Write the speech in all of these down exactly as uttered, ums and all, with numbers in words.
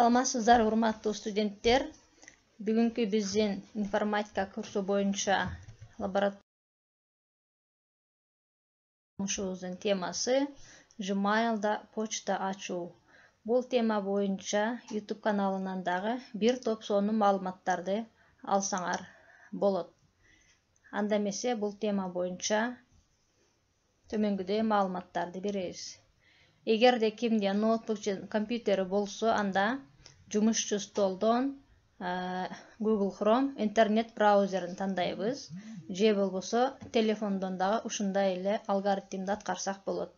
Саламатсыздар, урматтуу студенттер. Бүгүнкү биздин информатика курсу боюнча лабораториябыздын темасы Gmail'да почта ачуу. Бул тема боюнча YouTube каналынан дагы бир топ сонун маалыматтарды алсаңар болот. Анда эмесе бул тема боюнча төмөнгүдөй маалыматтарды беребиз. Эгерде кимде ноутбук же компьютери болсо, анда жумушчу столдон Google Chrome интернет браузерин тандайбыз. Же болбосо телефондон дагы ушундай эле алгоритмди аткарсак болот.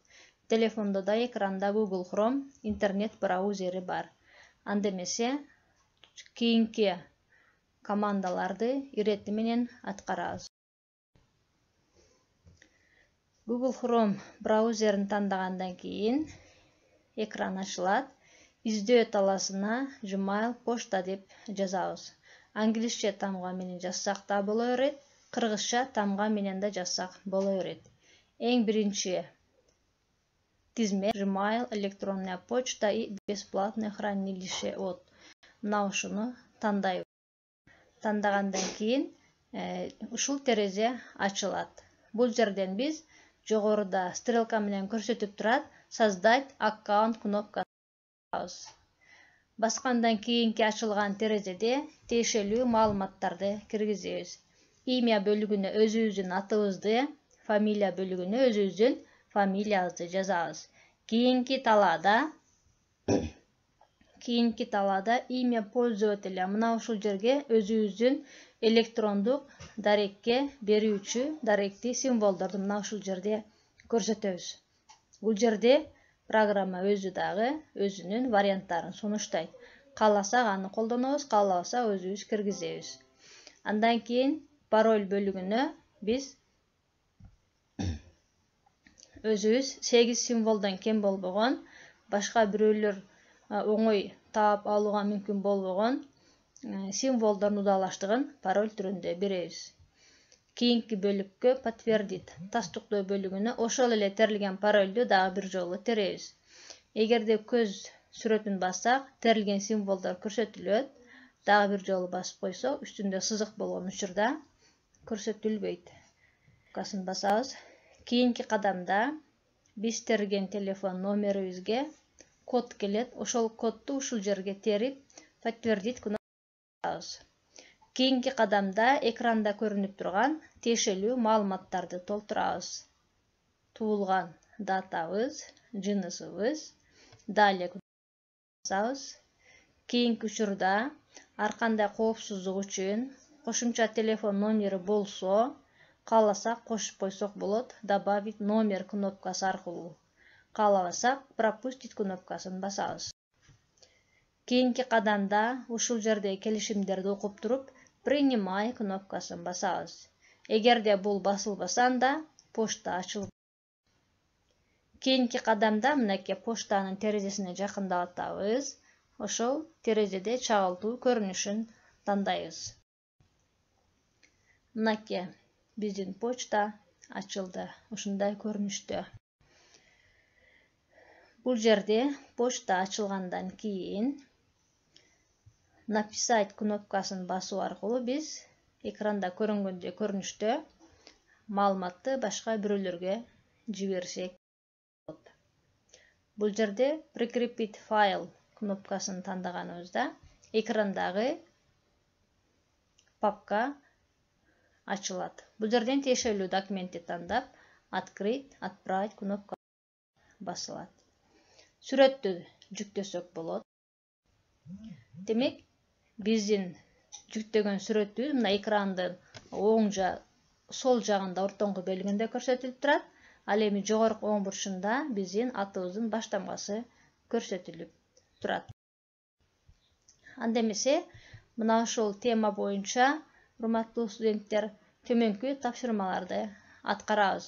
Телефондо да экранда Google Chrome интернет браузери бар. Анда эмесе кийинки командаларды ирети менен аткарабыз. Google Chrome браузерин тандагандан кийин экран ачылат. Издөө таласына Gmail почта деп жазабыз. Англисче тамга менен жазсак да боло берет, кыргызча тамга менен да жазсак боло берет. Эң биринчи тизме Gmail электронная почта и бесплатное хранилище от. Мына ушуну тандайбыз. Тандагандан кийин ушул терезе ачылат. Бул жерден биз жогоруда стрелка менен көрсөтүп турат создать аккаунт кнопкасы. Баскандан кийинки ачылган терезеде тиешелүү маалыматтарды киргизебиз. Имя бөлүгүнө өзүбүздүн атыбызды, фамилия бөлүгүнө өзүбүздүн фамилиябызды жазабыз. Кийинки талаада кийинки талаада имя пользователя, мына ушул жерге өзүбүздүн электрондук дарекке берүүчү даректи символдорду мына ушул жерде көрсөтөбүз. Бул жерде программа өзү дагы өзүнүн варианттарын сунуштайт. Кааласак аны колдонобуз, каалабасак өзүбүз киргизебиз. Андан кийин пароль бөлүгүнө биз өзүбүз сегиз символдон кем болбогон, башка бирөөлөр оңой таап алууга мүмкүн болбогон символдордун удалаштыгын пароль түрүндө беребиз. Кийинки бөлүккө подтвердит тастыктоо бөлүгүнө ошол эле терилген парольду дагы бир жолу теребиз. Эгерде көз сүрөтүн бассак, терилген символдор көрсөтүлөт. Дагы бир жолу басып койсок, үстүндө сызык болгон учурда көрсөтүлбөйт. Касын басабыз. Кийинки кадамда биз терген телефон номерибизге код келет. Ошол кодду ушул жерге терип, подтвердить кнопкасын басабыз. Кийинки кадамда экранда көрүнүп турган тиешелүү маалыматтарды толтурабыз. Туулган датабыз, жынысыбыз, далее басабыз. Кийинки учурда ар кандай коопсуздук үчүн кошумча телефон номери болсо, кааласак кошуп койсок болот. Добавить номер кнопкасы аркылуу. Каалабасак пропустить кнопкасын басабыз. Кийинки кадамда ушул жерде келишимдерди окуп туруп, принимай кнопкасын басабыз. Эгерде бул басылбаса, анда почта ачылбайт. Кийинки кадамда мынакей почтанын терезесине жакындап атабыз. Ошол терезеде чагылтуу көрүнүшүн тандайбыз. Мынакей биздин почта ачылды. Ушундай көрүнүштө. Бул жерде почта ачылгандан кийин написать кнопкасын басуу аркылуу биз экранда көрүнгөндөй көрүнүштө маалыматты башка бирөөлөргө жиберсек болот. Бул жерде прикрепить файл кнопкасын тандаганыбызда экрандагы папка ачылат. Бул жерден тиешелүү документти тандап, открыть, отправить кнопкасы басылат. Сүрөттү жүктөсөк болот. Демек, биздин жүктөгөн сүрөтүбүз мына экрандын оң жа сол жагында ортоңку бөлүгүндө көрсөтүлүп турат. Ал эми жогорку оң бурчунда биздин атыбыздын баштамгасы көрсөтүлүп турат. Анда эмесе, мына ошол тема боюнча урматтуу студенттер төмөнкү тапшырмаларды аткарабыз.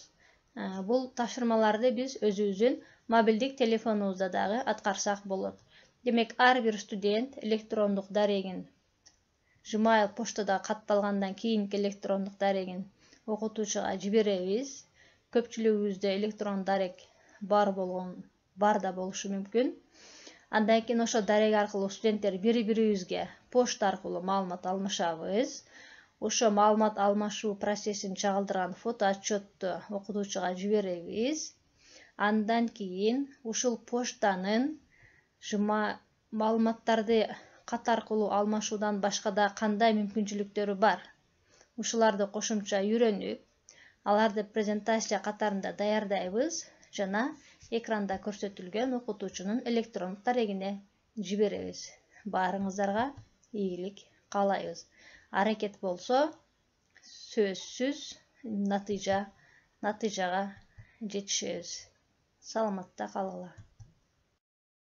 Бул тапшырмаларды биз өзүбүздүн мобилдик телефонубузда дагы аткарсак болот. Демек, ар бир студент электрондук дарегин Gmail поштада катталгандан кийинки электрондук дарегин окутуучуга жиберебиз. Көпчүлүгүбүздө электрон дарек бар болгон, бар да болушу мүмкүн. Андан кийин ошо дарек аркылуу студенттер бири-бирибизге почта аркылуу маалымат алмашабыз. Ошо маалымат алмашуу процессин чагылдырган фото отчетту окутуучуга жиберебиз. Андан кийин ушул почтанын жыма маалыматтарды кат аркылуу алмашуудан башка да кандай мүмкүнчүлүктөрү бар? Ушуларды кошумча үйрөнүп, аларды презентация катарында даярдайбыз жана экранда көрсөтүлгөн окутуучунун электрондук дарегине жиберебиз. Баарыңыздарга ийгилик каалайбыз. Аракет болсо сөзсүз натыйжа натыйжага жетишебиз. Саламатта калгыла.